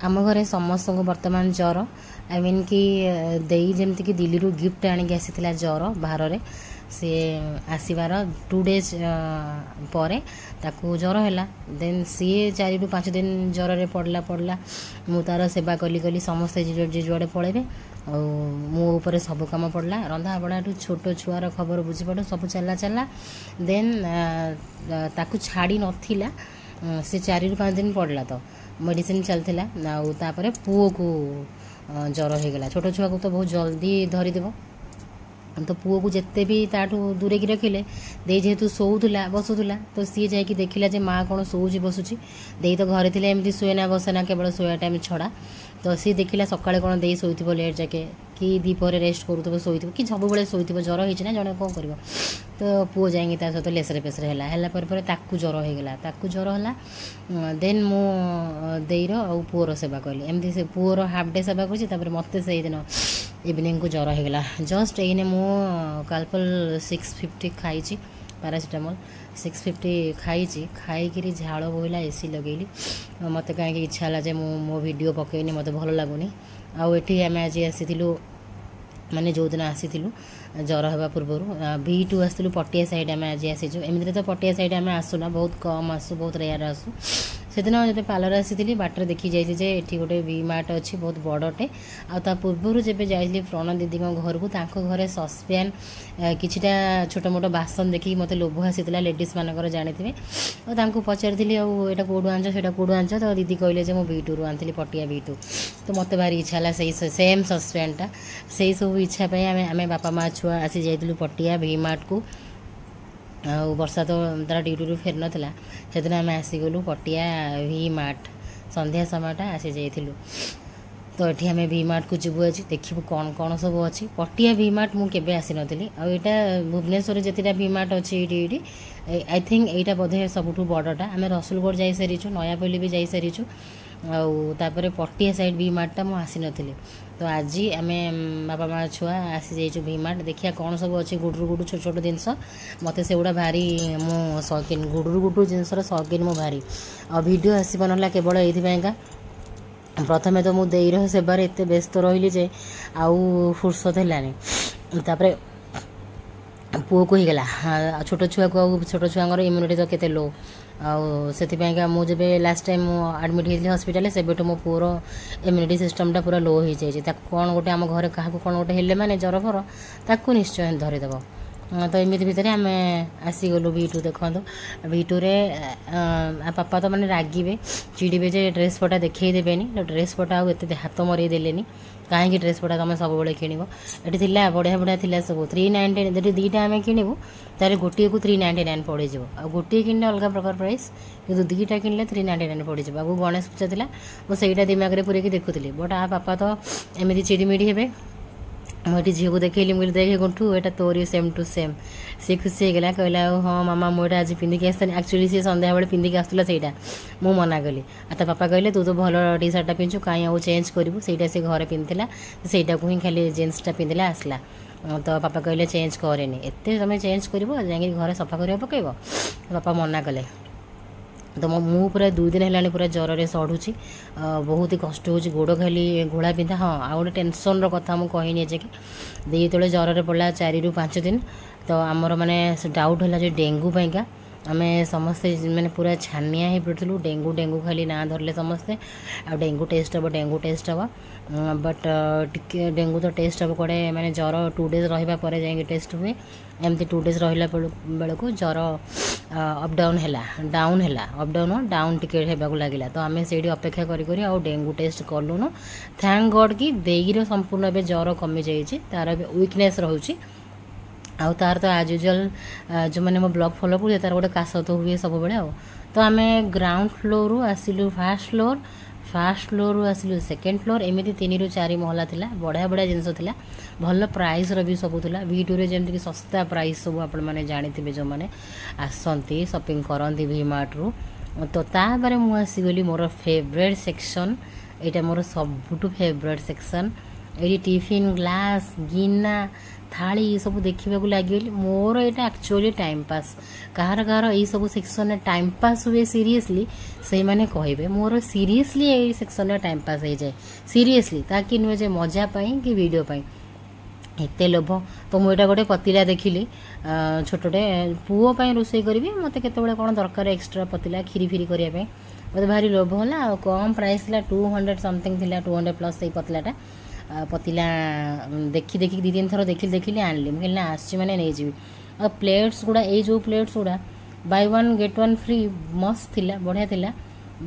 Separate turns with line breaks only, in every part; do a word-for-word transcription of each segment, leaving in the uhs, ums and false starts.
ଆମ ଘରେ ସମସ୍ତଙ୍କୁ ବର୍ତ୍ତମାନ ଜ୍ୱର। I mean କି ଦେଇ ଯେମିତିକି ଦିଲ୍ଲୀରୁ ଗିଫ୍ଟ ଆଣିକି ଆସିଥିଲା ଜ୍ୱର ଭାରରେ, ସିଏ ଆସିବାର ଟୁ ଡେଜ୍ ପରେ ତାକୁ ଜ୍ୱର ହେଲା। ଦେନ୍ ସିଏ ଚାରିରୁ ପାଞ୍ଚ ଦିନ ଜ୍ୱରରେ ପଡ଼ିଲା ପଡ଼ିଲା ମୁଁ ତା'ର ସେବା କଲି କଲି ସମସ୍ତେ ଯିଏ ଯୁଆଡ଼େ ପଳେଇବେ ଆଉ ମୋ ଉପରେ ସବୁ କାମ ପଡ଼ିଲା। ରନ୍ଧା ବଢ଼ାଠୁ ଛୋଟ ଛୁଆର ଖବର ବୁଝିବାଠୁ ସବୁ ଚାଲିଲା ଚାଲିଲା। ଦେନ୍ ତାକୁ ଛାଡ଼ି ନଥିଲା, ସେ ଚାରିରୁ ପାଞ୍ଚ ଦିନ ପଡ଼ିଲା ତ ମେଡ଼ିସିନ ଚାଲିଥିଲା। ଆଉ ତାପରେ ପୁଅକୁ ଜ୍ୱର ହେଇଗଲା। ଛୋଟ ଛୁଆକୁ ତ ବହୁତ ଜଲ୍ଦି ଧରିଦେବ। ତ ପୁଅକୁ ଯେତେ ବି ତାଠୁ ଦୂରେଇକି ରଖିଲେ, ଦେଇ ଯେହେତୁ ଶୋଉଥିଲା ବସୁଥିଲା, ତ ସିଏ ଯାଇକି ଦେଖିଲା ଯେ ମା କ'ଣ ଶୋଉଛି ବସୁଛି। ଦେଇ ତ ଘରେ ଥିଲେ ଏମିତି ଶୁଏ ନା ବସେ ନା, କେବଳ ଶୋଇବା ଟାଇମ୍ ଛଡ଼ା। ତ ସିଏ ଦେଖିଲା ସକାଳେ କ'ଣ ଦେଇ ଶୋଇଥିବ ଲେଟ୍ ଯାକେ, କି ଦ୍ୱିପହରେ ରେଷ୍ଟ କରୁଥିବ ଶୋଇଥିବ, କି ସବୁବେଳେ ଶୋଇଥିବ। ଜ୍ୱର ହେଇଛି ନା, ଜଣେ କ'ଣ କରିବ? ତ ପୁଅ ଯାଇକି ତା ସହିତ ଲେସରେ ପେସରେ ହେଲା। ହେଲା ପରେ ପରେ ତାକୁ ଜ୍ୱର ହେଇଗଲା। ତାକୁ ଜ୍ୱର ହେଲା, ଦେନ୍ ମୁଁ ଦେଇର ଆଉ ପୁଅର ସେବା କଲି। ଏମିତି ସେ ପୁଅର ହାଫ୍ ଡେ ସେବା କରୁଛି, ତାପରେ ମୋତେ ସେଇଦିନ ଇଭିନିଂକୁ ଜ୍ୱର ହେଇଗଲା। ଜଷ୍ଟ ଏଇନେ ମୁଁ କାଲପଲ୍ ସିକ୍ସ ଫିଫ୍ଟି ଖାଇଛି, ପାରାସିଟାମଲ୍ ସିକ୍ସ ଫିଫ୍ଟି ଖାଇଛି। ଖାଇକିରି ଝାଳ ବୋହିଲା, ଏସି ଲଗେଇଲି। ମୋତେ କାହିଁକି ଇଚ୍ଛା ହେଲା ଯେ ମୁଁ ମୋ ଭିଡ଼ିଓ ପକେଇନି, ମୋତେ ଭଲ ଲାଗୁନି। ଆଉ ଏଠି ଆମେ ଆଜି ଆସିଥିଲୁ, ମାନେ ଯେଉଁଦିନ ଆସିଥିଲୁ ଜ୍ୱର ହେବା ପୂର୍ବରୁ ଭି ଟୁ ଆସିଥିଲୁ, ପଟିଆ ସାଇଡ଼୍ ଆମେ ଆଜି ଆସିଛୁ। ଏମିତିରେ ତ ପଟିଆ ସାଇଡ଼୍ ଆମେ ଆସୁନା, ବହୁତ କମ୍ ଆସୁ, ବହୁତ ରେୟାର ଆସୁ। ସେଦିନ ଯେତେ ପାର୍ଲର ଆସିଥିଲି, ବାଟରେ ଦେଖି ଯାଇଥିଲି ଯେ ଏଠି ଗୋଟେ ଭି ମାର୍ଟ ଅଛି ବହୁତ ବଡ଼ଟେ। ଆଉ ତା ପୂର୍ବରୁ ଯେବେ ଯାଇଥିଲି ପ୍ରଣ ଦିଦିଙ୍କ ଘରକୁ, ତାଙ୍କ ଘରେ ସସ୍ପ୍ୟାନ୍ କିଛିଟା ଛୋଟ ମୋଟ ବାସନ ଦେଖିକି ମୋତେ ଲୋଭ ଆସିଥିଲା, ଲେଡ଼ିଜ୍ ମାନଙ୍କର ଜାଣିଥିବେ। ଆଉ ତାଙ୍କୁ ପଚାରିଥିଲି, ଆଉ ଏଇଟା କେଉଁଠୁ ଆଣିଛ, ସେଇଟା କେଉଁଠୁ ଆଣିଛ? ତ ଦିଦି କହିଲେ ଯେ ମୁଁ ଭି ଟୁରୁ ଆଣିଥିଲି, ପଟିଆ ଭି ଟୁ। ତ ମୋତେ ଭାରି ଇଚ୍ଛା ହେଲା ସେଇ ସେମ୍ ସସ୍ପ୍ୟାନ୍ଟା। ସେଇ ସବୁ ଇଚ୍ଛା ପାଇଁ ଆମେ ଆମେ ବାପା ମା ଛୁଆ ଆସି ଯାଇଥିଲୁ ପଟିଆ ଭି ମାର୍ଟକୁ। ଆଉ ବର୍ଷା ତ ତାର ଡ୍ୟୁଟିରୁ ଫେରିନଥିଲା ସେଦିନ। ଆମେ ଆସିଗଲୁ ପଟିଆ ଭି ମାର୍ଟ, ସନ୍ଧ୍ୟା ସମୟଟା ଆସିଯାଇଥିଲୁ। ତ ଏଠି ଆମେ ଭି ମାର୍ଟକୁ ଯିବୁ ଆଜି, ଦେଖିବୁ କ'ଣ କ'ଣ ସବୁ ଅଛି। ପଟିଆ ଭି ମାର୍ଟ ମୁଁ କେବେ ଆସିନଥିଲି। ଆଉ ଏଇଟା ଭୁବନେଶ୍ୱରରେ ଯେତେଟା ଭି ମାର୍ଟ ଅଛି ଏଇଠି ଏଇଠି I think ଏଇଟା ବୋଧେ ସବୁଠୁ ବଡ଼ଟା। ଆମେ ରସୁଲଗଡ଼ ଯାଇସାରିଛୁ, ନୟାପଲ୍ଲୀ ବି ଯାଇସାରିଛୁ, ଆଉ ତାପରେ ପଟିଆ ସାଇଡ଼୍ ଭି ମାର୍ଟଟା ମୁଁ ଆସିନଥିଲି। ତ ଆଜି ଆମେ ବାପା ମା ଛୁଆ ଆସିଯାଇଛୁ ଭି ମାର୍ଟ, ଦେଖିବା କ'ଣ ସବୁ ଅଛି। ଗୁଡ଼ରୁ ଗୁଡ଼ୁ ଛୋଟ ଛୋଟ ଜିନିଷ ମୋତେ ସେଗୁଡ଼ା ଭାରି ମୁଁ ସୌକିନ, ଗୁଡ଼ରୁ ଗୁଡ଼ୁ ଜିନିଷର ସୌକିନ ମୁଁ ଭାରି। ଆଉ ଭିଡ଼ିଓ ଆସିବ ନହେଲା କେବଳ ଏଇଥିପାଇଁକା, ପ୍ରଥମେ ତ ମୁଁ ଦେଇର ସେବାରେ ଏତେ ବ୍ୟସ୍ତ ରହିଲି ଯେ ଆଉ ଫୁର୍ସତ ହେଲାନି। ତାପରେ ପୁଅକୁ ହେଇଗଲା, ଆଉ ଛୋଟ ଛୁଆକୁ, ଆଉ ଛୋଟ ଛୁଆଙ୍କର ଇମ୍ୟୁନିଟି ତ କେତେ ଲୋ। ଆଉ ସେଥିପାଇଁକା ମୁଁ ଯେବେ ଲାଷ୍ଟ ଟାଇମ୍ ମୁଁ ଆଡ଼ମିଟ୍ ହେଇଥିଲି ହସ୍ପିଟାଲରେ, ସେବେଠୁ ମୋ ପୁଅର ଇମ୍ୟୁନିଟି ସିଷ୍ଟମ୍ଟା ପୁରା ଲୋ ହେଇଯାଇଛି। ତାକୁ କ'ଣ ଗୋଟେ, ଆମ ଘରେ କାହାକୁ କ'ଣ ଗୋଟେ ହେଲେ ମାନେ ଜ୍ୱର ଫର ତାକୁ ନିଶ୍ଚୟ ଧରିଦେବ। ତ ଏମିତି ଭିତରେ ଆମେ ଆସିଗଲୁ ଭି ଟୁ। ଦେଖନ୍ତୁ ଭି ଟୁରେ ବାପା ତ ମାନେ ରାଗିବେ ଚିଡ଼ିବେ ଯେ ଡ୍ରେସ୍ ପଟା ଦେଖେଇ ଦେବେନି। ଡ୍ରେସ୍ ପଟା ଆଉ ଏତେ ହାତ ମରେଇ ଦେଲେନି, କାହିଁକି ଡ୍ରେସ୍ ପଟା ତୁମେ ସବୁବେଳେ କିଣିବ? ଏଠି ଥିଲା ବଢ଼ିଆ ବଢ଼ିଆ ଥିଲା ସବୁ ଥ୍ରୀ ନାଇଣ୍ଟି। ଯଦି ଦୁଇଟା ଆମେ କିଣିବୁ ତାହେଲେ ଗୋଟିଏକୁ ଥ୍ରୀ ନାଇଣ୍ଟି ନାଇନ୍ ପଡ଼ିଯିବ। ଆଉ ଗୋଟିଏ କିଣିଲେ ଅଲଗା ପ୍ରକାର ପ୍ରାଇସ୍, କିନ୍ତୁ ଦୁଇଟା କିଣିଲେ ଥ୍ରୀ ନାଇଣ୍ଟି ନାଇନ୍ ପଡ଼ିଯିବ। ଆଗକୁ ଗଣେଶ ପୂଜା ଥିଲା, ମୁଁ ସେଇଟା ଦିମାଗରେ ପୁରେଇକି ଦେଖୁଥିଲି। ବଟ୍ ଆ ବାପା ତ ଏମିତି ଚିଡ଼ିମିଡ଼ି ହେବେ। ମୁଁ ଏଠି ଝିଅକୁ ଦେଖେଇଲି, ମୁଁ କହିଲି ଦେଖେ ଗୁଣ୍ଠୁ, ଏଇଟା ତୋରି ସେମ୍ ଟୁ ସେମ୍। ସିଏ ଖୁସି ହେଇଗଲା, କହିଲା ଆଉ ହଁ ମାମା, ମୁଁ ଏଇଟା ଆଜି ପିନ୍ଧିକି ଆସିଥାନ୍ତି। ଆକ୍ଚୁଆଲି ସିଏ ସନ୍ଧ୍ୟାବେଳେ ପିନ୍ଧିକି ଆସୁଥିଲା ସେଇଟା, ମୁଁ ମନା କଲି। ଆଉ ତା ବାପା କହିଲେ ତୁ ତ ଭଲ ଟି ସାର୍ଟଟା ପିନ୍ଧୁ, କାହିଁ ଆଉ ଚେଞ୍ଜ କରିବୁ? ସେଇଟା ସେ ଘରେ ପିନ୍ଧିଥିଲା, ସେଇଟାକୁ ହିଁ ଖାଲି ଜିନ୍ସଟା ପିନ୍ଧିଲା ଆସିଲା। ତ ବାପା କହିଲେ ଚେଞ୍ଜ କରେନି, ଏତେ ତୁମେ ଚେଞ୍ଜ କରିବ, ଯାଇକି ଘରେ ସଫା କରିବାକୁ ପକାଇବ। ବାପା ମନା କଲେ। ତ ମୁଁ ପୁରା ଦୁଇ ଦିନ ହେଲାଣି ପୁରା ଜ୍ୱରରେ ସଢ଼ୁଛି, ବହୁତ ହି କଷ୍ଟ ହେଉଛି, ଗୋଡ଼ ଖାଲି ଘୋଳା ବିନ୍ଧା। ହଁ, ଆଉ ଗୋଟେ ଟେନସନ୍ର କଥା ମୁଁ କହିନି ଯେ କି ଦେଇ ଯେତେବେଳେ ଜ୍ୱରରେ ପଡ଼ିଲା ଚାରିରୁ ପାଞ୍ଚ ଦିନ, ତ ଆମର ମାନେ ଡାଉଟ୍ ହେଲା ଯେ ଡେଙ୍ଗୁ ପାଇଁକା ଆମେ ସମସ୍ତେ ମାନେ ପୁରା ଛାନିଆ ହେଇ ପଡ଼ିଥିଲୁ। ଡେଙ୍ଗୁ ଡେଙ୍ଗୁ ଖାଲି ନାଁ ଧରିଲେ ସମସ୍ତେ, ଆଉ ଡେଙ୍ଗୁ ଟେଷ୍ଟ ହେବ, ଡେଙ୍ଗୁ ଟେଷ୍ଟ ହେବ। ବଟ୍ ଟିକେ ଡେଙ୍ଗୁ ତ ଟେଷ୍ଟ ହେବ କୁଆଡ଼େ, ମାନେ ଜ୍ୱର ଟୁ ଡେଜ୍ ରହିବା ପରେ ଯାଇକି ଟେଷ୍ଟ ହୁଏ। ଏମିତି ଟୁ ଡେଜ୍ ରହିଲା ବେଳକୁ ଜ୍ୱର ଅପ୍ ଡାଉନ୍ ହେଲା, ଡାଉନ୍ ହେଲା, ଅପ୍ ଡାଉନ୍ ଡାଉନ୍ ଟିକେ ହେବାକୁ ଲାଗିଲା। ତ ଆମେ ସେଇଠି ଅପେକ୍ଷା କରି କରି ଆଉ ଡେଙ୍ଗୁ ଟେଷ୍ଟ କଲୁନୁ। Thank ଗଡ଼୍ କି ଦେଇର ସମ୍ପୂର୍ଣ୍ଣ ଏବେ ଜ୍ୱର କମିଯାଇଛି, ତାର ଏବେ ୱିକନେସ୍ ରହୁଛି। ଆଉ ତାର ତ ଆଜ୍ ୟୁଜୁଆଲ୍, ଯେଉଁମାନେ ମୋ ବ୍ଲଗ୍ ଫଲୋ କରୁଥିବେ, ତାର ଗୋଟେ କାଶ ତ ହୁଏ ସବୁବେଳେ। ଆଉ ତ ଆମେ ଗ୍ରାଉଣ୍ଡ ଫ୍ଲୋରରୁ ଆସିଲୁ ଫାର୍ଷ୍ଟ ଫ୍ଲୋର୍, ଫାର୍ଷ୍ଟ ଫ୍ଲୋରରୁ ଆସିଲୁ ସେକେଣ୍ଡ ଫ୍ଲୋର୍, ଏମିତି ତିନିରୁ ଚାରି ମହଲା ଥିଲା। ବଢ଼ିଆ ବଢ଼ିଆ ଜିନିଷ ଥିଲା, ଭଲ ପ୍ରାଇସ୍ର ବି ସବୁ ଥିଲା। ଭି ଟୁରେ ଯେମିତିକି ଶସ୍ତା ପ୍ରାଇସ୍ ସବୁ ଆପଣମାନେ ଜାଣିଥିବେ, ଯେଉଁମାନେ ଆସନ୍ତି ସପିଂ କରନ୍ତି ଭି ମାର୍ଟରୁ। ତ ତାପରେ ମୁଁ ଆସିଗଲି ମୋର ଫେଭରେଟ୍ ସେକ୍ସନ୍। ଏଇଟା ମୋର ସବୁଠୁ ଫେଭରେଟ୍ ସେକ୍ସନ୍। ଏଇଠି ଟିଫିନ୍, ଗ୍ଲାସ୍, ଗିନା, ଥାଳି ଏସବୁ ଦେଖିବାକୁ ଲାଗିଗଲି। ମୋର ଏଇଟା ଆକ୍ଚୁଆଲି ଟାଇମ୍ ପାସ୍। କାହାର କାହାର ଏଇସବୁ ସେକ୍ସନରେ ଟାଇମ୍ ପାସ୍ ହୁଏ ସିରିୟସଲି, ସେଇମାନେ କହିବେ। ମୋର ସିରିୟସଲି ଏଇ ସେକ୍ସନରେ ଟାଇମ୍ ପାସ୍ ହେଇଯାଏ ସିରିୟସଲି, ତାକି ନୁହେଁ ଯେ ମଜା ପାଇଁ କି ଭିଡ଼ିଓ ପାଇଁ। ଏତେ ଲୋଭ ତ। ମୁଁ ଏଇଟା ଗୋଟେ ପତିଲା ଦେଖିଲି ଛୋଟଟେ, ପୁଅ ପାଇଁ ରୋଷେଇ କରିବି, ମୋତେ କେତେବେଳେ କ'ଣ ଦରକାର ଏକ୍ସଟ୍ରା ପତିଲା କ୍ଷୀରି ଫିରି କରିବା ପାଇଁ। ମୋତେ ଭାରି ଲୋଭ ହେଲା। ଆଉ କମ୍ ପ୍ରାଇସ୍ ଥିଲା, ଟୁ ହଣ୍ଡ୍ରେଡ଼ ସମଥିଙ୍ଗ ଥିଲା, ଟୁ ହଣ୍ଡ୍ରେଡ଼ ପ୍ଲସ୍ ସେଇ ପତିଲାଟା। ପତିଲା ଦେଖି ଦେଖିକି ଦୁଇ ତିନି ଥର ଦେଖିଲି ଦେଖିଲି ଆଣିଲି। ମୁଁ କହିଲି ନା, ଆସିଛି ମାନେ ନେଇଯିବି। ଆଉ ପ୍ଲେଟ୍ସ ଗୁଡ଼ା, ଏଇ ଯେଉଁ ପ୍ଲେଟ୍ସ ଗୁଡ଼ା buy one get one free, ମସ୍ତ ଥିଲା, ବଢ଼ିଆ ଥିଲା।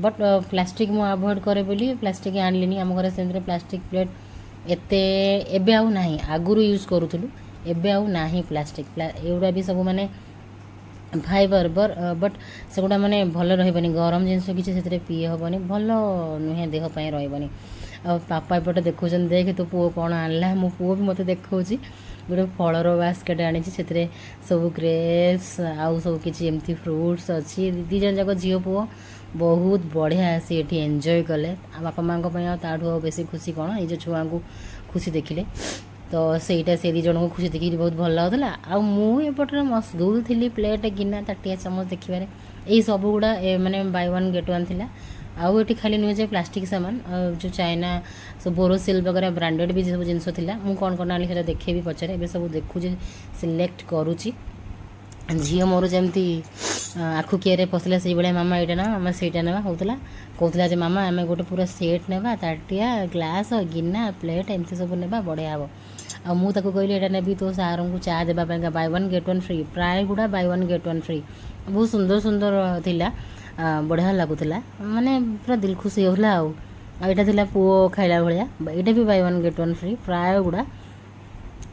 ବଟ୍ ପ୍ଲାଷ୍ଟିକ୍ ମୁଁ ଆଭଏଡ଼ କରେ ବୋଲି ପ୍ଲାଷ୍ଟିକ୍ ଆଣିଲିନି। ଆମ ଘରେ ସେମିତିରେ ପ୍ଲାଷ୍ଟିକ୍ ପ୍ଲେଟ୍ ଏତେ ଏବେ ଆଉ ନାହିଁ, ଆଗରୁ ୟୁଜ୍ କରୁଥିଲୁ, ଏବେ ଆଉ ନାହିଁ ପ୍ଲାଷ୍ଟିକ୍। ଏଗୁଡ଼ା ବି ସବୁ ମାନେ ଫାଇବର, ବଟ୍ ସେଗୁଡ଼ା ମାନେ ଭଲ ରହିବନି, ଗରମ ଜିନିଷ କିଛି ସେଥିରେ ପିଇ ହେବନି, ଭଲ ନୁହେଁ, ଦେହ ପାଇଁ ରହିବନି। ଆଉ ପାପା ଏପଟେ ଦେଖାଉଛନ୍ତି, ଦେଖେ ତୋ ପୁଅ କ'ଣ ଆଣିଲା। ମୋ ପୁଅ ବି ମୋତେ ଦେଖାଉଛି, ଗୋଟେ ଫଳର ବାସ୍କେଟ୍ ଆଣିଛି, ସେଥିରେ ସବୁ ଗ୍ରେପ୍ସ ଆଉ ସବୁ କିଛି ଏମିତି ଫ୍ରୁଟ୍ସ ଅଛି। ଦୁଇ ଜଣ ଯାକ ଝିଅ ପୁଅ ବହୁତ ବଢ଼ିଆ ଆସି ଏଠି ଏନ୍ଜୟ କଲେ। ଆଉ ବାପା ମାଆଙ୍କ ପାଇଁ ଆଉ ତାଠୁ ଆଉ ବେଶୀ ଖୁସି କ'ଣ, ନିଜ ଛୁଆଙ୍କୁ ଖୁସି ଦେଖିଲେ। ତ ସେଇଟା ସେ ଦୁଇ ଜଣଙ୍କୁ ଖୁସି ଦେଖିକି ବହୁତ ଭଲ ଲାଗୁଥିଲା। ଆଉ ମୁଁ ଏପଟରେ ମସଗୁଲ ଥିଲି ପ୍ଲେଟ୍, ଗିନା, ତାଟିଆ, ଚାମଚ ଦେଖିବାରେ। ଏଇ ସବୁ ଗୁଡ଼ା ମାନେ ବାଇ ୱାନ୍ ଗେଟ୍ ୱାନ୍ ଥିଲା। ଆଉ ଏଠି ଖାଲି ନୁହେଁ ଯେ ପ୍ଲାଷ୍ଟିକ୍ ସାମାନ, ଯେଉଁ ଚାଇନା ସବୁ ବୋରୋସିଲ୍ ବଗେରା ବ୍ରାଣ୍ଡେଡ଼ ବି ସବୁ ଜିନିଷ ଥିଲା। ମୁଁ କ'ଣ କ'ଣ ଆଣିଲି ସେଇଟା ଦେଖେଇବି ପଛରେ। ଏବେ ସବୁ ଦେଖୁଛି, ସିଲେକ୍ଟ କରୁଛି। ଝିଅ ମୋର ଯେମିତି ଆଖୁ କିଆରେ ପଶିଲା ସେଇଭଳିଆ, ମାମା ଏଇଟା ନେବା, ମାମା ସେଇଟା ନେବା ହେଉଥିଲା। କହୁଥିଲା ଯେ ମାମା, ଆମେ ଗୋଟେ ପୁରା ସେଟ୍ ନେବା, ତାଟିଆ, ଗ୍ଲାସ୍, ଗିନା, ପ୍ଲେଟ୍ ଏମିତି ସବୁ ନେବା, ବଢ଼ିଆ ହେବ। ଆଉ ମୁଁ ତାକୁ କହିଲି ଏଇଟା ନେବି ତୋ ସାରଙ୍କୁ ଚା ଦେବା ପାଇଁକା, buy one get one free। ପ୍ରାୟ ଗୁଡ଼ା buy one get one free। ବହୁତ ସୁନ୍ଦର ସୁନ୍ଦର ଥିଲା, ବଢ଼ିଆ ଲାଗୁଥିଲା, ମାନେ ପୁରା ଦିଲ ଖୁସି ହେଉଥିଲା। ଆଉ ଆଉ ଏଇଟା ଥିଲା ପୁଅ ଖାଇଲା ଭଳିଆ, ଏଇଟା ବି buy one get one free ପ୍ରାୟ ଗୁଡ଼ା।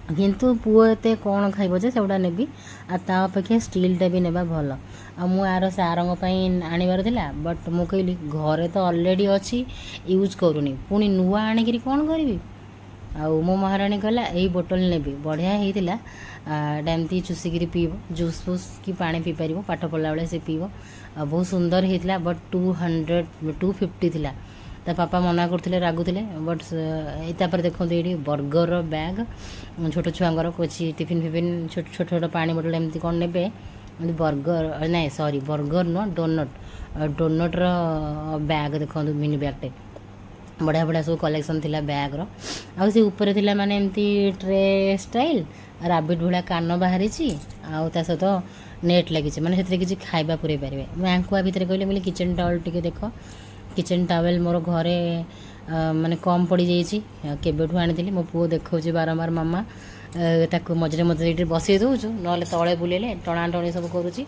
କିନ୍ତୁ ପୁଅ ଏତେ କ'ଣ ଖାଇବ ଯେ ସେଗୁଡ଼ା ନେବି? ଆଉ ତା ଅପେକ୍ଷା ଷ୍ଟିଲ୍ଟା ବି ନେବା ଭଲ। ଆଉ ମୁଁ ଆର ସାରଙ୍କ ପାଇଁ ଆଣିବାର ଥିଲା, ବଟ୍ ମୁଁ କହିଲି ଘରେ ତ ଅଲରେଡ଼ି ଅଛି, ୟୁଜ୍ କରୁନି, ପୁଣି ନୂଆ ଆଣିକିରି କ'ଣ କରିବି? ଆଉ ମୋ ମହାରାଣୀ କହିଲା ଏଇ ବୋଟଲ୍ ନେବି, ବଢ଼ିଆ ହେଇଥିଲା। ଏଇଟା ଏମିତି ଚୁଷିକିରି ପିଇବ, ଜୁସ୍ ଫୁସ୍ କି ପାଣି ପିଇପାରିବ, ପାଠ ପଢ଼ିଲା ବେଳେ ସେ ପିଇବ। ଆଉ ବହୁତ ସୁନ୍ଦର ହେଇଥିଲା, but two hundred two fifty ଥିଲା। ତା ପାପା ମନା କରୁଥିଲେ, ରାଗୁଥିଲେ, ବଟ୍ ଏଇ ତାପରେ ଦେଖନ୍ତୁ ଏଇଠି ବର୍ଗରର ବ୍ୟାଗ୍, ଛୋଟ ଛୁଆଙ୍କର କିଛି ଟିଫିନ୍ ଫିଫିନ୍, ଛୋଟ ଛୋଟ ଛୋଟ ପାଣି ବୋଟଲ୍ ଏମିତି କ'ଣ ନେବେ। ଏମିତି ବର୍ଗର, ନାଇଁ ସରି, ବର୍ଗର ନୁହଁ, ଡୋନଟ୍, ଡୋନଟ୍ର ବ୍ୟାଗ୍ ଦେଖନ୍ତୁ, ମିନି ବ୍ୟାଗ୍ଟେ। ବଢ଼ିଆ ବଢ଼ିଆ ସବୁ କଲେକ୍ସନ୍ ଥିଲା ବ୍ୟାଗ୍ର। ଆଉ ସେ ଉପରେ ଥିଲା ମାନେ ଏମିତି ଟ୍ରେ ଷ୍ଟାଇଲ୍, ରାବିଟ୍ ଭଳିଆ କାନ ବାହାରିଛି ଆଉ ତା ସହିତ ନେଟ୍ ଲାଗିଛି, ମାନେ ସେଥିରେ କିଛି ଖାଇବା ପୁରେଇ ପାରିବେ। ମୁଁ ୟାଙ୍କୁ ଆ ଭିତରେ କହିଲି, ବୋଲି କିଚେନ୍ ଟାୱେଲ୍ ଟିକେ ଦେଖ। କିଚେନ୍ ଟାୱେଲ୍ ମୋର ଘରେ ମାନେ କମ୍ ପଡ଼ିଯାଇଛି, କେବେଠୁ ଆଣିଥିଲି। ମୋ ପୁଅ ଦେଖାଉଛି ବାରମ୍ବାର ମାମା। ତାକୁ ମଝିରେ ମଝିରେ ଏଇଠି ବସେଇ ଦେଉଛୁ, ନହେଲେ ତଳେ ବୁଲେଇଲେ ଟଣାଟଣି ସବୁ କରୁଛି।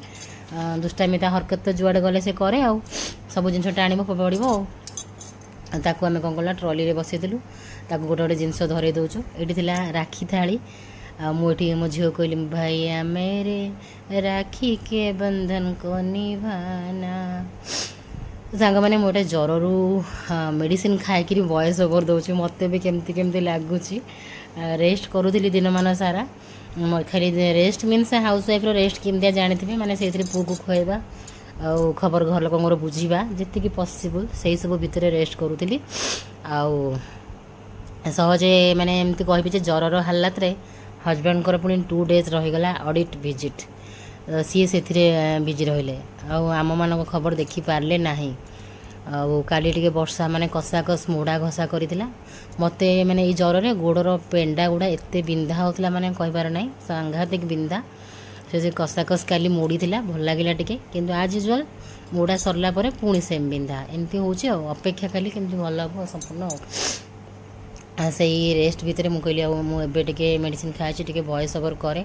ଦୁଷ୍ଟାମି ତା ହରକତ ତ ଯୁଆଡ଼େ ଗଲେ ସେ କରେ, ଆଉ ସବୁ ଜିନିଷ ଟାଣିବ, ଫୋପାଡ଼ିବ। ଆଉ ତାକୁ ଆମେ କ'ଣ କଲା, ଟ୍ରଲିରେ ବସେଇଦେଲୁ, ତାକୁ ଗୋଟେ ଗୋଟେ ଜିନିଷ ଧରେଇ ଦେଉଛୁ। ଏଇଠି ଥିଲା ରାକ୍ଷୀ ଥାଳି। ଆଉ ମୁଁ ଏଠି ମୋ ଝିଅକୁ କହିଲି, भैया मेरे राखी के बंधन को निभाना। ସାଙ୍ଗମାନେ, ମୁଁ ଏଇଟା ଜ୍ୱରରୁ ମେଡ଼ିସିନ ଖାଇକିରି ଭଏସ୍ ଓଭର୍ ଦେଉଛି, ମୋତେ ବି କେମିତି କେମିତି ଲାଗୁଛି। ରେଷ୍ଟ କରୁଥିଲି ଦିନମାନ ସାରା ଖାଲି। ରେଷ୍ଟ ମିନ୍ସ ହାଉସ୍ ୱାଇଫ୍ର ରେଷ୍ଟ କେମିତିଆ ଜାଣିଥିବେ, ମାନେ ସେଇଥିରେ ପୁଅକୁ ଖୁଆଇବା ଆଉ ଖବର ଘର ଲୋକଙ୍କର ବୁଝିବା, ଯେତିକି ପସିବୁଲ୍ ସେଇ ସବୁ ଭିତରେ ରେଷ୍ଟ କରୁଥିଲି। ଆଉ ସହଜେ ମାନେ ଏମିତି କହିବି ଯେ ଜ୍ୱରର ହାଲାତରେ ହଜବେଣ୍ଡଙ୍କର ପୁଣି ଟୁ ଡେଜ୍ ରହିଗଲା ଅଡ଼ିଟ୍ ଭିଜିଟ୍, ସିଏ ସେଥିରେ ବିଜି ରହିଲେ ଆଉ ଆମମାନଙ୍କ ଖବର ଦେଖିପାରିଲେ ନାହିଁ। ଆଉ କାଲି ଟିକେ ବର୍ଷା ମାନେ କଷାକସ ମୋଡ଼ା ଘଷା କରିଥିଲା ମୋତେ। ମାନେ ଏଇ ଜ୍ୱରରେ ଗୋଡ଼ର ପେଣ୍ଡା ଗୁଡ଼ା ଏତେ ବିନ୍ଧା ହେଉଥିଲା, ମାନେ କହିବାର ନାହିଁ, ସାଂଘାତିକ ବିନ୍ଧା। ସେ ସେ କଷାକସ କାଲି ମୋଡ଼ିଥିଲା, ଭଲ ଲାଗିଲା ଟିକେ, କିନ୍ତୁ ଆଜ୍ ୟୁଜୁଆଲ୍ ମୋଡ଼ା ସରିଲା ପରେ ପୁଣି ସେମ୍ ବିନ୍ଧା ଏମିତି ହେଉଛି। ଆଉ ଅପେକ୍ଷା କାଲି କେମିତି ଭଲ ହେବ ସମ୍ପୂର୍ଣ୍ଣ। ଆଉ ସେଇ ରେଷ୍ଟ ଭିତରେ ମୁଁ କହିଲି ଆଉ ମୁଁ ଏବେ ଟିକେ ମେଡ଼ିସିନ ଖାଇଛି, ଟିକେ ଭଏସ୍ ଓଭର୍ କରେ।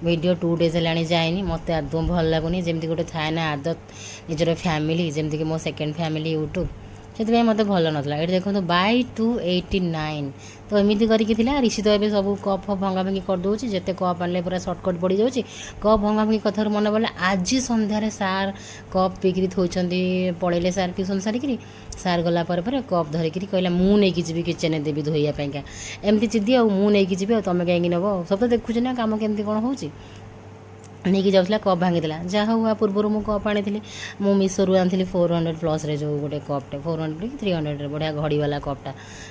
ଭିଡ଼ିଓ ଟୁ ଡେଜ୍ ହେଲାଣି ଯାଇନି, ମୋତେ ଆଦୌ ଭଲ ଲାଗୁନି। ଯେମିତି ଗୋଟେ ଥାଏ ନା ଆଦତ, ନିଜର ଫ୍ୟାମିଲି, ଯେମିତିକି ମୋ ସେକେଣ୍ଡ ଫ୍ୟାମିଲି ୟୁଟ୍ୟୁବ୍, ସେଥିପାଇଁ ମୋତେ ଭଲ ନଥିଲା। ଏଠି ଦେଖନ୍ତୁ ବାଇ ଟୁ ଏଇଟି ନାଇନ୍ ତ ଏମିତି କରିକି ଥିଲା। ରିଷି ତ ଏବେ ସବୁ କପ୍ ଫପ୍ ଭଙ୍ଗା ଭଙ୍ଗି କରିଦେଉଛି, ଯେତେ କପ୍ ଆଣିଲେ ପୁରା ସର୍ଟକଟ୍ ପଡ଼ିଯାଉଛି। କପ୍ ଭଙ୍ଗା ଭଙ୍ଗି କଥାରୁ ମନେ ପଡ଼ିଲା, ଆଜି ସନ୍ଧ୍ୟାରେ ସାର୍ କପ୍ ପିଇକିରି ଥୋଇଛନ୍ତି, ପଳେଇଲେ ସାର୍ ଟ୍ୟୁସନ୍ ସାରିକିରି। ସାର୍ ଗଲା ପରେ ପରେ କପ୍ ଧରିକିରି କହିଲା, ମୁଁ ନେଇକି ଯିବି, କିଚେନ୍ରେ ଦେବି ଧୋଇବା ପାଇଁକା। ଏମିତି ଜିଦି, ଆଉ ମୁଁ ନେଇକି ଯିବି, ଆଉ ତୁମେ କାହିଁକି ନେବ? ସବୁ ତ ଦେଖୁଛି ନା କାମ କେମିତି କ'ଣ ହେଉଛି। ନେଇକି ଯାଉଥିଲା କପ୍ ଭାଙ୍ଗିଦେଲା ଯାହା ହଉ ଆ ପୂର୍ବରୁ ମୁଁ କପ୍ ଆଣିଥିଲି ମୁଁ ମିଶୋରୁ ଆଣିଥିଲି ଫୋର୍ ହଣ୍ଡ୍ରେଡ଼ ପ୍ଲସ୍ରେ ଯେଉଁ ଗୋଟେ କପ୍ଟେ ଫୋର୍ ହଣ୍ଡ୍ରେଡ଼ କି ଥ୍ରୀ ହଣ୍ଡ୍ରେଡ଼ରେ ବଢ଼ିଆ ଘଡ଼ିବାଲା କପ୍ଟା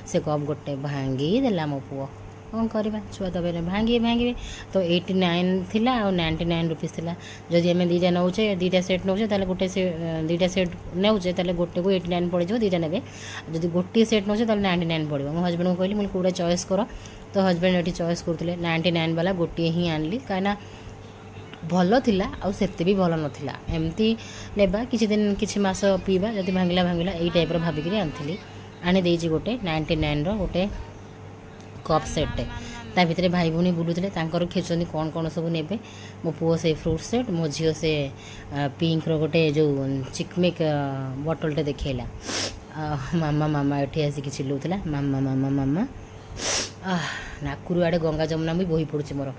ସେ କପ୍ ଗୋଟେ ଭାଙ୍ଗି ଦେଲା ମୋ ପୁଅ କ'ଣ କରିବା ଛୁଆ ତ ଏବେ ଭାଙ୍ଗିବେ ଭାଙ୍ଗିବେ ତ ଏଇଟି ନାଇନ୍ ଥିଲା ଆଉ ନାଇଣ୍ଟି ନାଇନ୍ ରୁପିସ୍ ଥିଲା ଯଦି ଆମେ ଦୁଇଟା ନେଉଛେ ଦୁଇଟା ସେଟ୍ ନେଉଛେ ତାହେଲେ ଗୋଟେ ସେ ଦୁଇଟା ସେଟ୍ ନେଉଛେ ତାହେଲେ ଗୋଟେକୁ ଏଇଟି ନାଇନ୍ ପଡ଼ିଯିବ ଦୁଇଟା ନେବେ ଯଦି ଗୋଟିଏ ସେଟ୍ ନେଉଛେ ତାହେଲେ ନାଇଣ୍ଟି ନାଇନ୍ ପଡ଼ିବ ମୋ ହଜବେଣ୍ଡଙ୍କୁ କହିଲି ମୁଁ କେଉଁଟା ଚଏସ୍ କର ତ ହଜବେଣ୍ଡ ଏଠି ଚଏସ୍ କରୁଥିଲେ ନାଇଣ୍ଟି ନାଇନ୍ ବାଲା ଗୋଟିଏ ହିଁ ଆଣିଲି କାହିଁକିନା ଭଲ ଥିଲା ଆଉ ସେତେ ବି ଭଲ ନଥିଲା ଏମିତି ନେବା କିଛି ଦିନ କିଛି ମାସ ପିଇବା ଯଦି ଭାଙ୍ଗିଲା ଭାଙ୍ଗିଲା ଏଇ ଟାଇପ୍ର ଭାବିକିରି ଆଣିଥିଲି ଆଣିଦେଇଛି ଗୋଟେ ନାଇଣ୍ଟି ନାଇନ୍ର ଗୋଟେ କପ୍ ସେଟ୍ଟେ ତା ଭିତରେ ଭାଇ ଭଉଣୀ ବୁଲୁଥିଲେ ତାଙ୍କର ଖେଳୁଛନ୍ତି କ'ଣ କ'ଣ ସବୁ ନେବେ ମୋ ପୁଅ ସେ ଫ୍ରୁଟ୍ ସେଟ୍ ମୋ ଝିଅ ସେ ପିଙ୍କର ଗୋଟେ ଯେଉଁ ଚିକମିକ୍ ବଟଲ୍ଟେ ଦେଖେଇଲା ମାମା ମାମା ଏଠି ଆସିକି ଚିଲଉଥିଲା ମାମା ମାମା ମାମା ନାକରୁ ଆଡ଼େ ଗଙ୍ଗା ଯମୁନା ବି ବୋହି ପଡ଼ୁଛି ମୋର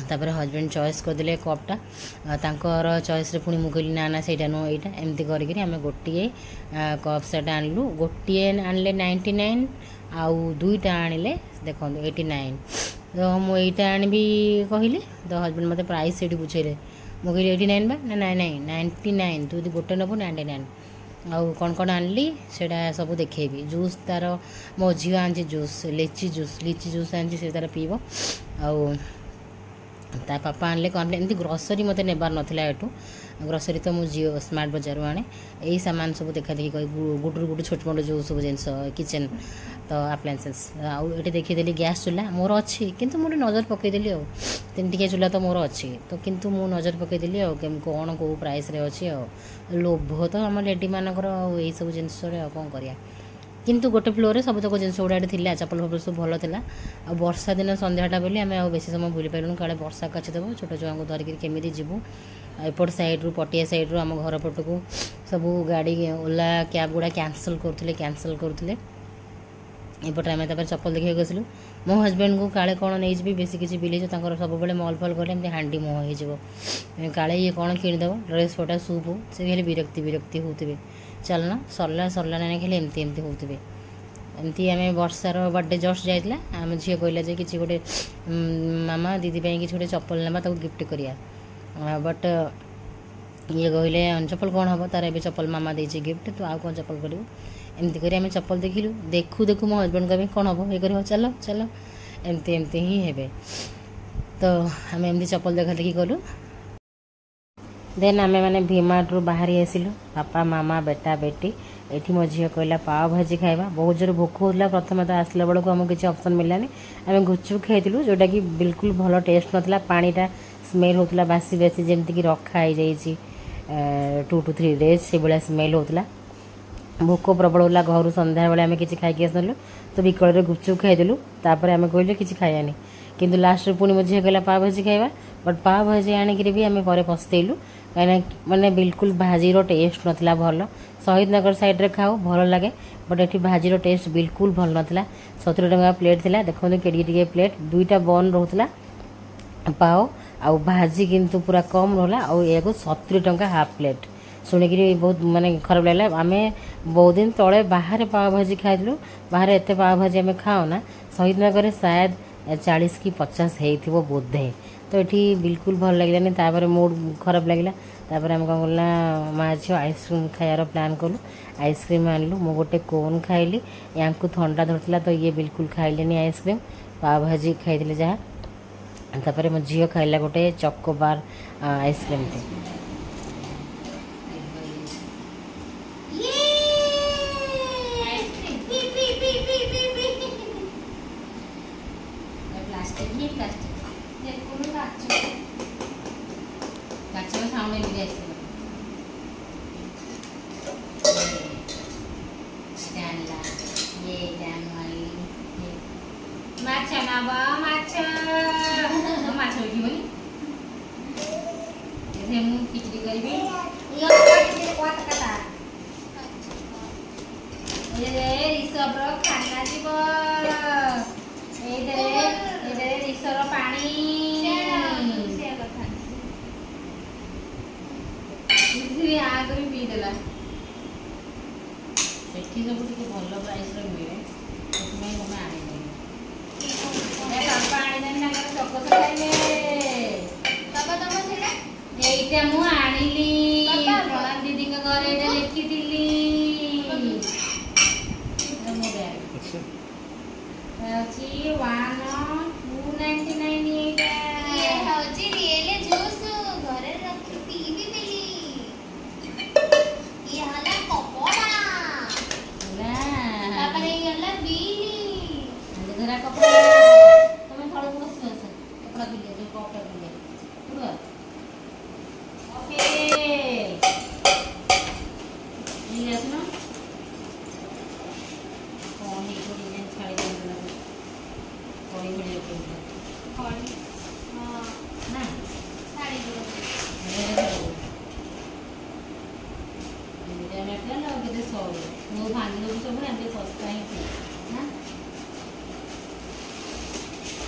ତାପରେ ହଜବେଣ୍ଡ ଚଏସ୍ କରିଦେଲେ କପ୍ଟା ତାଙ୍କର ଚଏସ୍ରେ ପୁଣି ମୁଁ କହିଲି ନା ନା ସେଇଟା ନୁହଁ ଏଇଟା ଏମିତି କରିକିରି ଆମେ ଗୋଟିଏ କପ୍ ସେଟ୍ ଆଣିଲୁ ଗୋଟିଏ ଆଣିଲେ ନାଇଣ୍ଟି ନାଇନ୍ ଆଉ ଦୁଇଟା ଆଣିଲେ ଦେଖନ୍ତୁ ଏଇଟି ନାଇନ୍ ତ ମୁଁ ଏଇଟା ଆଣିବି କହିଲି ତ ହଜବେଣ୍ଡ ମୋତେ ପ୍ରାଇସ୍ ସେଇଠି ବୁଝେଇଲେ ମୁଁ କହିଲି ଏଇଟି ନାଇନ୍ ବା ନା ନାଇଁ ନାଇଁ ନାଇଣ୍ଟି ନାଇନ୍ ତୁ ଯଦି ଗୋଟେ ନେବୁ ନାଇଣ୍ଟି ନାଇନ୍ ଆଉ କ'ଣ କ'ଣ ଆଣିଲି ସେଇଟା ସବୁ ଦେଖେଇବି ଜୁସ୍ ତାର ମୋ ଝିଅ ଆଣିଛି juice lychee juice lychee juice ଆଣିଛି ସେ ତାର ପିଇବ ଆଉ ତା ପାପା ଆଣିଲେ କ'ଣ ଏମିତି ଗ୍ରୋସରୀ ମୋତେ ନେବାର ନଥିଲା ଏଠୁ ଗ୍ରୋସରୀ ତ ମୁଁ ଜିଓ ସ୍ମାର୍ଟ ବଜାରରୁ ଆଣେ ଏଇ ସାମାନ ସବୁ ଦେଖାଦେଖି କରି ଗୁଡ଼ରୁ ଗୁଡ଼ୁ ଛୋଟ ମୋଟ ଯେଉଁ ସବୁ ଜିନିଷ କିଚେନ୍ ତ ଆପ୍ଲାଏନ୍ସେସ୍ ଆଉ ଏଠି ଦେଖିଦେଲି ଗ୍ୟାସ୍ ଚୁଲା ମୋର ଅଛି କିନ୍ତୁ ମୁଁ ଟିକେ ନଜର ପକାଇଦେଲି ଆଉ ତିନି ଟିକିଆ ଚୁଲା ତ ମୋର ଅଛି ତ କିନ୍ତୁ ମୁଁ ନଜର ପକାଇଦେଲି ଆଉ କ'ଣ କେଉଁ ପ୍ରାଇସ୍ରେ ଅଛି ଆଉ ଲୋଭ ତ ଆମ ଲେଡ଼ିମାନଙ୍କର ଆଉ ଏଇସବୁ ଜିନିଷରେ ଆଉ କ'ଣ କରିବା କିନ୍ତୁ ଗୋଟେ ଫ୍ଲୋରରେ ସବୁତକ ଜିନିଷ ଗୁଡ଼ା ଏଠି ଥିଲା ଚପଲ ଫପଲ ସବୁ ଭଲ ଥିଲା ଆଉ ବର୍ଷା ଦିନ ସନ୍ଧ୍ୟାଟା ବୋଲି ଆମେ ଆଉ ବେଶୀ ସମୟ ବୁଲି ପାରିଲୁନି କାଳେ ବର୍ଷା କାଚିଦେବ ଛୋଟ ଛୁଆଙ୍କୁ ଧରିକିରି କେମିତି ଯିବୁ ଏପଟ ସାଇଡ଼୍ରୁ ପଟିଆ ସାଇଡ଼୍ରୁ ଆମ ଘର ପଟକୁ ସବୁ ଗାଡ଼ି ଓଲା କ୍ୟାବ୍ ଗୁଡ଼ା କ୍ୟାନସଲ୍ କରୁଥିଲେ କ୍ୟାନସଲ୍ କରୁଥିଲେ ଏପଟେ ଆମେ ତାପରେ ଚପଲ ଦେଖିବାକୁ ଆସିଲୁ ମୋ ହଜବେଣ୍ଡଙ୍କୁ କାଳେ କ'ଣ ନେଇଯିବି ବେଶୀ କିଛି ବିଲ୍ ହେଇଯିବ ତାଙ୍କର ସବୁବେଳେ ମଲ୍ ଫଲ୍ ଗଲେ ଏମିତି ହାଣ୍ଡି ମୁହଁ ହେଇଯିବ କାଳେ ଇଏ କ'ଣ କିଣିଦେବ ଡ୍ରେସ୍ ପଟା ସୁପ୍ ସେ ଖାଲି ବିରକ୍ତି ବିରକ୍ତି ହେଉଥିବେ ଚାଲୁନ ସରିଲା ସରିଲା ନା ଖାଲି ଏମିତି ଏମିତି ହେଉଥିବେ ଏମିତି ଆମେ ବର୍ଷାର ବର୍ଥଡ଼େ ଜଷ୍ଟ ଯାଇଥିଲା ଆମ ଝିଅ କହିଲା ଯେ କିଛି ଗୋଟେ ମାମା ଦିଦି ପାଇଁ କିଛି ଗୋଟେ ଚପଲ ନେବା ତାକୁ ଗିଫ୍ଟ କରିବା ବଟ୍ ଇଏ କହିଲେ ଚପଲ କ'ଣ ହେବ ତାର ଏବେ ଚପଲ ମାମା ଦେଇଛି ଗିଫ୍ଟ ତୁ ଆଉ କ'ଣ ଚପଲ କରିବୁ ଏମିତି କରି ଆମେ ଚପଲ ଦେଖିଲୁ ଦେଖୁ ଦେଖୁ ମୋ ହଜବେଣ୍ଡ କହିବେ କ'ଣ ହେବ ଇଏ କରିବ ଚାଲ ଚାଲ ଏମିତି ଏମିତି ହିଁ ହେବେ ତ ଆମେ ଏମିତି ଚପଲ ଦେଖା ଦେଖି କଲୁ ଦେନ୍ ଆମେ ମାନେ ଭିମାର୍ଟରୁ ବାହାରି ଆସିଲୁ ବାପା ମାମା ବେଟା ବେଟି ଏଠି ମୋ ଝିଅ କହିଲା ପାଓ ଭାଜି ଖାଇବା ବହୁତ ଜୋରେ ଭୋକ ହେଉଥିଲା ପ୍ରଥମେ ତ ଆସିଲା ବେଳକୁ ଆମକୁ କିଛି ଅପସନ୍ ମିଳିଲାନି ଆମେ ଗୁପଚୁପ୍ ଖାଇଥିଲୁ ଯେଉଁଟାକି ବିଲକୁଲ ଭଲ ଟେଷ୍ଟ ନଥିଲା ପାଣିଟା ସ୍ମେଲ୍ ହେଉଥିଲା ବାସି ବାସି ଯେମିତିକି ରଖା ହେଇଯାଇଛି ଟୁ ଟୁ ଥ୍ରୀ ଡେଜ୍ ସେଇଭଳିଆ ସ୍ମେଲ୍ ହେଉଥିଲା ଭୋକ ପ୍ରବଳ ହେଲା ଘରୁ ସନ୍ଧ୍ୟାବେଳେ ଆମେ କିଛି ଖାଇକି ଆସିନଥିଲୁ ତ ବିକଳରେ ଗୁପଚୁପ୍ ଖାଇଦେଲୁ ତାପରେ ଆମେ କହିଲୁ କିଛି ଖାଇବାନି କିନ୍ତୁ ଲାଷ୍ଟରେ ପୁଣି ମୋ ଝିଅ କହିଲା ପାଓ ଭାଜି ଖାଇବା ବଟ୍ ପାଓ ଭାଜି ଆଣିକିରି ବି ଆମେ ପରେ ପସ୍ତେଇଲୁ କାହିଁକିନା ମାନେ ବିଲକୁଲ ଭାଜିର ଟେଷ୍ଟ ନଥିଲା ଭଲ ଶହୀଦନଗର ସାଇଡ଼୍ରେ ଖାଉ ଭଲ ଲାଗେ ବଟ୍ ଏଠି ଭାଜିର ଟେଷ୍ଟ ବିଲକୁଲ ଭଲ ନଥିଲା ସତୁରି ଟଙ୍କା ପ୍ଲେଟ୍ ଥିଲା ଦେଖନ୍ତୁ କେଡ଼ିକି ଟିକେ ପ୍ଲେଟ୍ ଦୁଇଟା ବନ୍ ରହୁଥିଲା ପାଓ ଆଉ ଭାଜି କିନ୍ତୁ ପୁରା କମ୍ ରହିଲା ଆଉ ଏହାକୁ ସତୁରି ଟଙ୍କା ହାଫ୍ ପ୍ଲେଟ୍ ଶୁଣିକିରି ବହୁତ ମାନେ ଖରାପ ଲାଗିଲା ଆମେ ବହୁତ ଦିନ ତଳେ ବାହାରେ ପାଓ ଭାଜି ଖାଇଥିଲୁ ବାହାରେ ଏତେ ପାଓ ଭାଜି ଆମେ ଖାଉନା ଶହୀଦନଗରରେ ସାୟଦ ଚାଳିଶ କି ପଚାଶ ହେଇଥିବ ବୋଧେ ତ ଏଠି ବିଲକୁଲ ଭଲ ଲାଗିଲାନି ତାପରେ ମୁଡ୍ ଖରାପ ଲାଗିଲା ତାପରେ ଆମେ କ'ଣ କଲୁ ନା ମା ଝିଅ ଆଇସ୍କ୍ରିମ୍ ଖାଇବାର ପ୍ଲାନ୍ କଲୁ ଆଇସ୍କ୍ରିମ୍ ଆଣିଲୁ ମୁଁ ଗୋଟେ କୋନ୍ ଖାଇଲି ୟାଙ୍କୁ ଥଣ୍ଡା ଧରିଥିଲା ତ ଇଏ ବିଲକୁଲ ଖାଇଲେନି ଆଇସ୍କ୍ରିମ୍ ପାଓ ଭାଜି ଖାଇଥିଲେ ଯାହା ତାପରେ ମୋ ଝିଅ ଖାଇଲା ଗୋଟେ ଚକୋବାର ଆଇସ୍କ୍ରିମ୍ଟେ
ପ୍ଲାଷ୍ଟିକ ହିଁ ପ୍ଲାଷ୍ଟିକ ଦେଖୁନୁ କାଚ କାଚର ସାଉଣ୍ଡ ଏମିତି ଆସିବ ଆଣିଲା ଇଏ ଏଇଟା ମୁଁ ଆଣିଲି ମାଛ ନବ ମାଛ ମାଛ ଉଠିବନି ଏଥିରେ ମୁଁ ଖିଚଡ଼ି କରିବି ରିଷଭର ଖାନା ଯିବ ଏଇଥିରେ ଏଇଥିରେ ରିଷର ପାଣି ଆ କରି ପିଇଦେଲା
ସେଠି ସବୁ ଟିକେ ଭଲ ପ୍ରାଇସ୍ରେ ମିଳେ ସେଥିପାଇଁ ତମେ ଆଣିଦେଲି
ବାପା ଆଣିଦେଲେ ତାଙ୍କର ଚକୋସ ଖାଇବେ ଏଇଟା ମୁଁ ଆଣିଲି ପ୍ରଣାମ ଦିଦିଙ୍କ ଘରେ ଏଇଟା ଲେଖିଥିଲି ଏଇଟା ମୋ ବ୍ୟାଗ
ଆଚ୍ଛା
ଅଛି ୱାନ୍ ଟୁ ନାଇଣ୍ଟି ନାଇନ୍ ଏଇଟା
ଇଏ ହଉଛି ରିଏଲ ଜୁସ୍ ଘରେ ରଖି ପିଇବି ବୋଲି ଇଏ ହେଲା କପଡ଼ା
ହେଲା
ତାପରେ ଇଏ ହେଲା ବିଲି
ଧରା କପଡ଼ା ତମେ ତଳକୁ ବସି ଆସ କପଡ଼ା ପିନ୍ଧି ଯୋଉ କପଡ଼ା ପିନ୍ଧି ପୁରା ଓକେ ଏଇ ଆସୁନ କଣ ହେଇଥିବ ଡିଜାଇନ ଛାଡ଼ି ଦିଅନ୍ତୁ ଲାଗୁଛି କଳି ଭଳିଆ କେମିତି
ହଁ
ନା
ଛାଡ଼ି ଦିଅ
ଏମିତିଆ ମ୍ୟାଟେରିଆଲ ଆଉ କେତେ ସରୁ ମୁଁ ଭାଙ୍ଗି ଦେଉଛି ସବୁ ନା ଏମିତି ଶସ୍ତା ହିଁ ଠିକ୍ ନା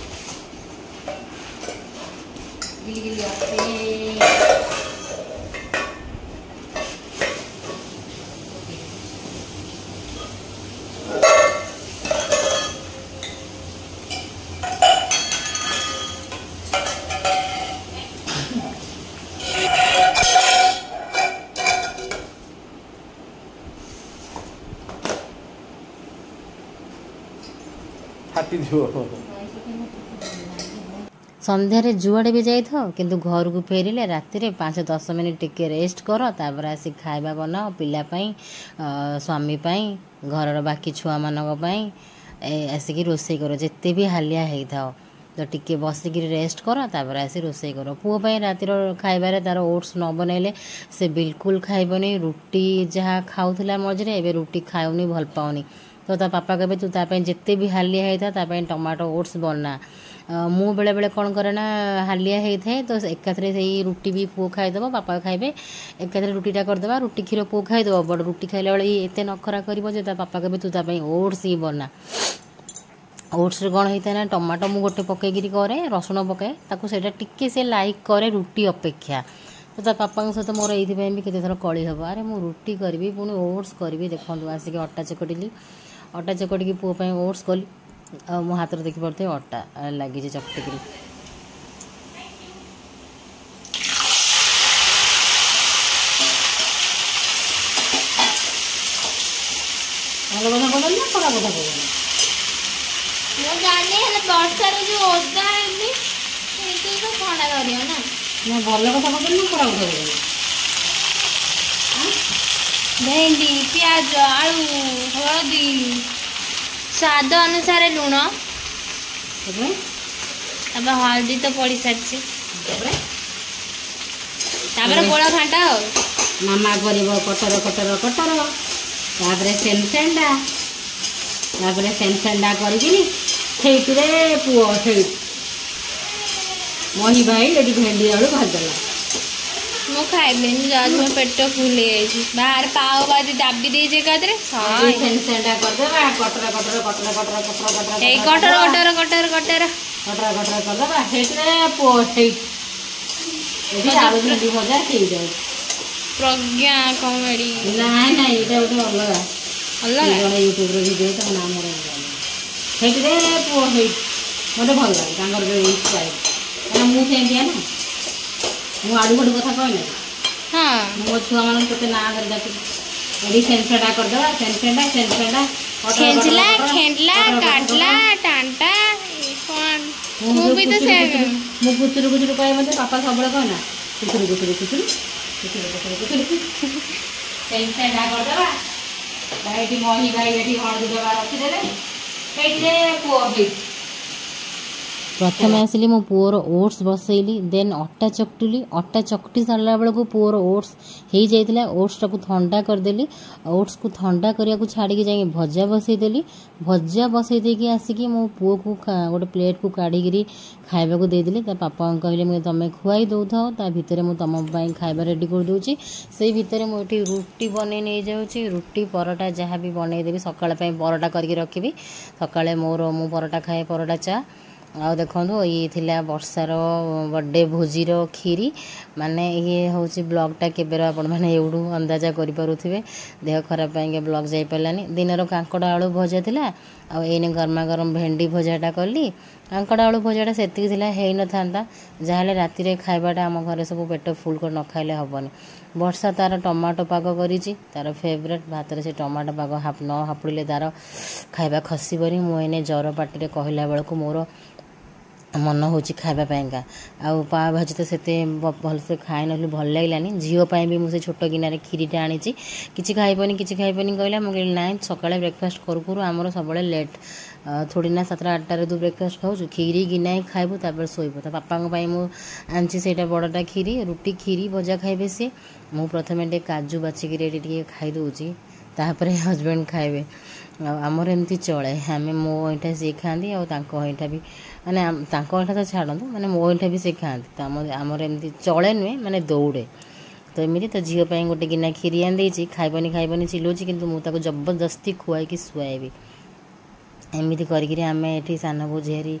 ଗିଲି ଗିଲି ଅପେ
ଫାଟିଯିବ
ସନ୍ଧ୍ୟାରେ ଯୁଆଡ଼େ ବି ଯାଇଥାଅ କିନ୍ତୁ ଘରକୁ ଫେରିଲେ ରାତିରେ ପାଞ୍ଚ ଦଶ ମିନିଟ୍ ଟିକେ ରେଷ୍ଟ କର ତାପରେ ଆସି ଖାଇବା ବନାଅ ପିଲା ପାଇଁ ଅ, ସ୍ୱାମୀ ପାଇଁ ଘରର ବାକି ଛୁଆମାନଙ୍କ ପାଇଁ ଏ ଆସିକି ରୋଷେଇ କର ଯେତେ ବି ହାଲିଆ ହେଇଥାଅ ତ ଟିକେ ବସିକିରି ରେଷ୍ଟ କର ତାପରେ ଆସି ରୋଷେଇ କର ପୁଅ ପାଇଁ ରାତିର ଖାଇବାରେ ତାର ଓଟ୍ସ ନ ବନେଇଲେ ସେ ବିଲକୁଲ ଖାଇବନି ରୁଟି ଯାହା ଖାଉଥିଲା ମଝିରେ ଏବେ ରୁଟି ଖାଉନି ଭଲ ପାଉନି ତ ତା ପାପା କହିବେ ତୁ ତା ପାଇଁ ଯେତେ ବି ହାଲିଆ ହେଇଥା ତା ପାଇଁ ଟମାଟୋ ଓଟ୍ସ ବନା ଅ, ମୁଁ ବେଳେବେଳେ କ'ଣ କରେ ନା ହାଲିଆ ହେଇଥାଏ ତ ଏକାଥରେ ସେଇ ରୁଟି ବି ପୁଅ ଖାଇଦେବ ବାପା ଖାଇବେ ଏକାଥରେ ରୁଟିଟା କରିଦେବା ରୁଟି କ୍ଷୀର ପୁଅ ଖାଇଦେବ ବଡ଼ ରୁଟି ଖାଇଲା ବେଳେ ଏତେ ନଖରା କରିବ ଯେ ତା ବାପା କହିବେ ତୁ ତା ପାଇଁ ଓଟ୍ସ ହିଁ ବନା ଓଟ୍ସରେ କ'ଣ ହେଇଥାଏ ନା ଟମାଟୋ ମୁଁ ଗୋଟେ ପକେଇକିରି କରେ ରସୁଣ ପକାଏ ତାକୁ ସେଇଟା ଟିକେ ସେ ଲାଇକ୍ କରେ ରୁଟି ଅପେକ୍ଷା ତ ତା ବାପାଙ୍କ ସହିତ ମୋର ଏଇଥିପାଇଁ ବି କେତେଥର କଳି ହେବ ଆରେ ମୁଁ ରୁଟି କରିବି ପୁଣି ଓଟ୍ସ କରିବି ଦେଖନ୍ତୁ ଆସିକି ଅଟା ଚକଟିଲି ଅଟା ଚକଟିକି ପୁଅ ପାଇଁ ଓଟ୍ସ କଲି ଆଉ ମୋ ହାତରେ ଦେଖିପାରୁଥିବେ ଅଟା ଲାଗିଛି ଚକଟିକିରି
ଭଲ କଥା କହୁଛନ୍ତି ନା ଖରାପ କଥା କହୁଛନ୍ତି
ମୁଁ ଜାଣିନି ହେଲେ ବର୍ଷାରେ ଯୋଉ ଓଦା ହେଲି ସେଇଥିରେ ତ ଥଣ୍ଡା ଧରିବ ନା
ନା ଭଲ କଥା କହୁଛନ୍ତି ନା ଖରାପ କଥା କହୁଛନ୍ତି
ଭେଣ୍ଡି ପିଆଜ ଆଳୁ ହଳଦୀ ସ୍ୱାଦ ଅନୁସାରେ ଲୁଣ
ତାପରେ
ତାପରେ ହଳଦୀ ତ ପଡ଼ି ସାରିଛି
ତାପରେ
ତାପରେ ଗୋଳା ଘାଣ୍ଟ ଆଉ
ମାମା କରିବ କଟର କଟର କଟର ତାପରେ ସେନସେଣ୍ଡା ତାପରେ ସେନସେଣ୍ଡା କରିକିନି ସେଇଥିରେ ପୁଅ ସେଇ ମହି ଭାଇ ଏଠି ଭେଣ୍ଡି ଆଳୁ ଭାଜିଦେଲା
ମୁଁ ଖାଇବିନି ଯାଉଛି ମୋ ପେଟ ଫୁଲ ହେଇଯାଇଛି ବାହାରେ ପାଓ ଭାଜି ଦାବି ଦେଇଛି ଏକାଥରେ
ଏଇ ସେନସେଣ୍ଡା କରିଦେବା କଟର କଟର କଟର କଟର କଟର କଟର
ଏଇ କଟର କଟର କଟର କଟର
କଟର କଟର କରିଦେବା ସେଇଥିରେ ପୁଅ ସେଇ ଏଠି ଆଳୁ ଭେଣ୍ଡି ଭଜା ହେଇଯାଉଛି
ପ୍ରଜ୍ଞା କମେଡି
ନାଇଁ ନାଇଁ ଏଇଟା ଗୋଟେ ଅଲଗା
ଅଲଗା
ଜଣେ ୟୁଟ୍ୟୁବ୍ର ଭିଡ଼ିଓ ତାଙ୍କ ନାଁ ମୋର ସେଇଥିରେ ପୁଅ ହେଇ ମୋତେ ଭଲ ଲାଗେ ତାଙ୍କର ଯେଉଁ ଏଇ ଷ୍ଟାଇଲ୍ କାରଣ ମୁଁ ସେମିତିଆ ନା ମୁଁ ଆଡ଼ୁ ଫାଡ଼ୁ କଥା କହେ ନା
ହଁ
ମୁଁ ମୋ ଛୁଆମାନଙ୍କୁ କେତେ ନାଁ ଧରି ଡାକୁଛି ଏଠି ସେନ୍ସେଟା କରିଦେବା ସେନ୍ସେଟା ସେନ୍ସେଟା
ଖେଞ୍ଚିଲା ଖେଣ୍ଟିଲା କାଟିଲା ଟାଣ୍ଟା ଏ କଣ ମୁଁ ବି ତ ସେ
ମୁଁ କୁଚୁରୁ କୁଚୁରୁ କହେ ମୋତେ ବାପା ସବୁବେଳେ କହେ ନା କୁଚୁରୁ କୁଚୁରୁ କୁଚୁରୁ କୁଚୁରୁ କୁଚୁରୁ କୁଚୁରୁ ସେନ୍ସେଟା କରିଦେବା ଏଠି ମହି ଭାଇ ଏଠି ହଳଦୀ ଦେବା ରଖିଦେବେ ସେଇଥିରେ ପୁଅ ହେଇଛି
ପ୍ରଥମେ ଆସିଲି ମୋ ପୁଅର ଓଟ୍ସ ବସେଇଲି ଦେନ୍ ଅଟା ଚକଟିଲି ଅଟା ଚକଟି ସାରିଲା ବେଳକୁ ପୁଅର ଓଟ୍ସ ହେଇଯାଇଥିଲା ଓଟ୍ସଟାକୁ ଥଣ୍ଡା କରିଦେଲି ଓଟ୍ସକୁ ଥଣ୍ଡା କରିବାକୁ ଛାଡ଼ିକି ଯାଇକି ଭଜା ବସେଇଦେଲି ଭଜା ବସେଇ ଦେଇକି ଆସିକି ମୋ ପୁଅକୁ ଗୋଟେ ପ୍ଲେଟ୍କୁ କାଢ଼ିକିରି ଖାଇବାକୁ ଦେଇଦେଲି ତା ବାପାଙ୍କୁ କହିଲେ ମୁଁ ତମେ ଖୁଆଇ ଦେଉଥାଅ ତା ଭିତରେ ମୁଁ ତମ ପାଇଁ ଖାଇବା ରେଡ଼ି କରିଦେଉଛି ସେଇ ଭିତରେ ମୁଁ ଏଠି ରୁଟି ବନେଇ ନେଇଯାଉଛି ରୁଟି ପରଟା ଯାହା ବି ବନେଇଦେବି ସକାଳ ପାଇଁ ପରଟା କରିକି ରଖିବି ସକାଳେ ମୋର ମୁଁ ପରଟା ଖାଏ ପରଟା ଚା ଆଉ ଦେଖନ୍ତୁ, ଇଏ ଥିଲା ବର୍ଷାର ବର୍ଥଡ଼େ ଭୋଜିର କ୍ଷୀରି। ମାନେ ଇଏ ହେଉଛି ବ୍ଲଗ୍ଟା କେବେର, ଆପଣମାନେ ଏଇଠୁ ଅନ୍ଦାଜା କରିପାରୁଥିବେ। ଦେହ ଖରାପ ପାଇଁକା ବ୍ଲଗ୍ ଯାଇପାରିଲାନି। ଦିନର କାଙ୍କଡ଼ ଆଳୁ ଭଜା ଥିଲା, ଆଉ ଏଇନେ ଗରମା ଗରମ ଭେଣ୍ଡି ଭଜାଟା କଲି। କାଙ୍କଡ଼ ଆଳୁ ଭଜାଟା ସେତିକି ଥିଲା, ହେଇନଥାନ୍ତା। ଯାହାହେଲେ ରାତିରେ ଖାଇବାଟା ଆମ ଘରେ ସବୁ ପେଟ ଫୁଲ୍ କରି ନ ଖାଇଲେ ହେବନି। ବର୍ଷା ତାର ଟମାଟୋ ପାଗ କରିଛି, ତାର ଫେଭରେଟ୍। ଭାତରେ ସେ ଟମାଟୋ ପାଗ ନ ହାପୁଡ଼ିଲେ ତାର ଖାଇବା ଖସିବନି। ମୁଁ ଏଇନେ ଜର ପାଟିରେ କହିଲା ବେଳକୁ ମୋର ମନ ହେଉଛି ଖାଇବା ପାଇଁକା। ଆଉ ପାଓ ଭାଜି ତ ସେତେ ଭଲସେ ଖାଇନଥିଲି, ଭଲ ଲାଗିଲାନି। ଝିଅ ପାଇଁ ବି ମୁଁ ସେ ଛୋଟ ଗିନାରେ କ୍ଷୀରିଟା ଆଣିଛି। କିଛି ଖାଇବନି, କିଛି ଖାଇବନି କହିଲା। ମୁଁ କହିଲି ନାଇଁ, ସକାଳେ ବ୍ରେକଫାଷ୍ଟ କରୁ କରୁ ଆମର ସବୁବେଳେ ଲେଟ୍। ଥୋଡ଼ି ନା ସାତଟା ଆଠଟାରେ ତୁ ବ୍ରେକଫାଷ୍ଟ ଖାଉଛୁ? କ୍ଷୀରି ଗିନାଏ ଖାଇବୁ, ତାପରେ ଶୋଇବୁ। ତା ବାପାଙ୍କ ପାଇଁ ମୁଁ ଆଣିଛି ସେଇଟା ବଡ଼ଟା କ୍ଷୀରି। ରୁଟି କ୍ଷୀରି ଭଜା ଖାଇବେ ସିଏ। ମୁଁ ପ୍ରଥମେ ଟିକେ କାଜୁ ବାଛିକିରି ଏଠି ଟିକେ ଖାଇଦେଉଛି, ତାପରେ ହଜବେଣ୍ଡ ଖାଇବେ। ଆଉ ଆମର ଏମିତି ଚଳେ, ଆମେ ମୋ ଅଇଁଠା ସିଏ ଖାଆନ୍ତି, ଆଉ ତାଙ୍କ ଅଇଁଠା ବି, ମାନେ ତାଙ୍କ ଅଇଁଠା ତ ଛାଡ଼ନ୍ତୁ, ମାନେ ମୋ ଅଇଁଠା ବି ସେ ଖାଆନ୍ତି। ତ ଆମ ଆମର ଏମିତି ଚଳେ ନୁହେଁ, ମାନେ ଦୌଡ଼େ ତ ଏମିତି। ତ ଝିଅ ପାଇଁ ଗୋଟେ ଗିନା କ୍ଷୀରି ଆଣି ଦେଇଛି। ଖାଇବନି ଖାଇବନି ଚିଲଉଛି, କିନ୍ତୁ ମୁଁ ତାକୁ ଜବରଦସ୍ତି ଖୁଆଇକି ଶୁଆଇବି। ଏମିତି କରିକିରି ଆମେ ଏଠି ସାନ ବୋଉ ଝିଆରୀ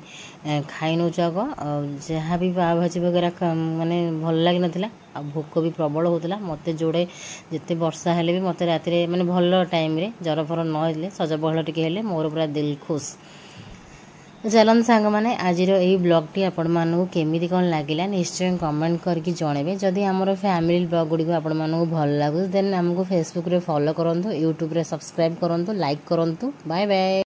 ଖାଇ ନେଉଛୁ ଆଗ। ଆଉ ଯାହା ବି ପାଓ ଭାଜି ବଗେରା ମାନେ ଭଲ ଲାଗିନଥିଲା, ଆଉ ଭୋକ ବି ପ୍ରବଳ ହେଉଥିଲା ମୋତେ। ଯୋଡ଼େ ଯେତେ ବର୍ଷା ହେଲେ ବି ମୋତେ ରାତିରେ ମାନେ ଭଲ ଟାଇମ୍ରେ ଜର ଫର ନ ହେଲେ, ସଜ ପଖାଳ ଟିକେ ହେଲେ ମୋର ପୁରା ଦିଲ ଖୁସ୍। ଚାଲନ୍ତୁ ସାଙ୍ଗମାନେ, ଆଜିର ଏଇ ବ୍ଲଗ୍ଟି ଆପଣମାନଙ୍କୁ କେମିତି କ'ଣ ଲାଗିଲା ନିଶ୍ଚୟ କମେଣ୍ଟ କରିକି ଜଣାଇବେ। ଯଦି ଆମର ଫ୍ୟାମିଲି ବ୍ଲଗ୍ ଗୁଡ଼ିକ ଆପଣମାନଙ୍କୁ ଭଲ ଲାଗୁଛି, ଦେନ୍ ଆମକୁ ଫେସବୁକ୍ରେ ଫଲୋ କରନ୍ତୁ, ୟୁଟ୍ୟୁବ୍ରେ ସବସ୍କ୍ରାଇବ୍ କରନ୍ତୁ, ଲାଇକ୍ କରନ୍ତୁ। Bye bye.